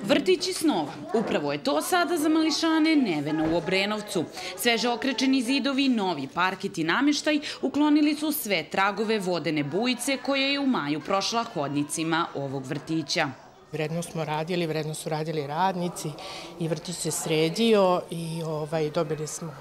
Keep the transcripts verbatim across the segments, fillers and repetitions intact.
Vrtići snova. Upravo je to sada za mališane Nevena u Obrenovcu. Sveže okrečeni zidovi, novi parket i namještaj uklonili su sve tragove vodene bujice koja je u maju prošla hodnicima ovog vrtića. Vredno smo radili, vredno su radili radnici i vrtić se sredio i ovaj, dobili smo,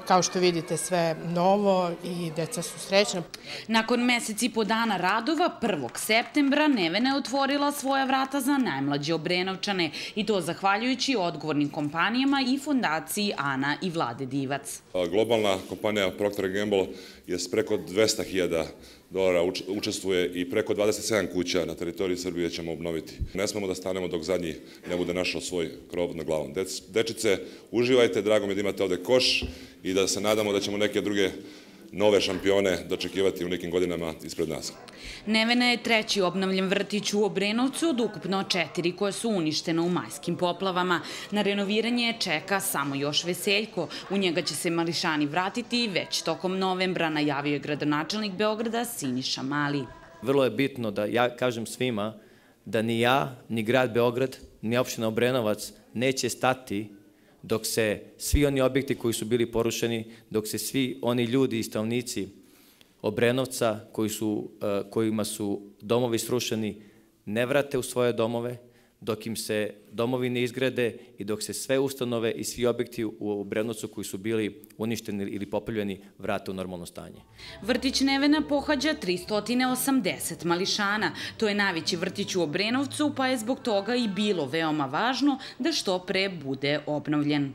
kao što vidite, sve novo i deca su srećna. Nakon mesec i po dana radova, prvog septembra, Nevena je otvorila svoja vrata za najmlađe Obrenovčane i to zahvaljujući odgovornim kompanijama i fondaciji Ana i Vlade Divac. Globalna kompanija Procter and Gamble je s preko dvesta hiljada dolara učestvuje i preko dvadeset sedam kuća na teritoriji Srbije ćemo obnoviti. Ne smemo da stanemo dok zadnji ne bude našao svoj krov nad glavom. Dečice, uživajte, drago mi je da imate ovde koš i da se nadamo da ćemo neke druge nove šampione dočekivati u nekim godinama ispred nas. Nevena je treći obnovljen vrtić u Obrenovcu od ukupno četiri koje su uništene u majskim poplavama. Na renoviranje čeka samo još Veseljko. U njega će se mališani vratiti već tokom novembra, najavio je gradonačelnik Beograda Siniša Mali. Vrlo je bitno da ja kažem svima da ni ja, ni grad Beograd, ni opština Obrenovac neće stati dok se svi oni objekti koji su bili porušeni, dok se svi oni ljudi i stanovnici Obrenovca koji su, kojima su domovi srušeni ne vrate u svoje domove, dok im se domovi ne izgrade i dok se sve ustanove i svi objekti u Obrenovcu koji su bili uništeni ili poplavljeni vrate u normalno stanje. Vrtić Nevena pohađa tristo osamdeset mališana. To je najveći vrtić u Obrenovcu, pa je zbog toga i bilo veoma važno da što pre bude obnovljen.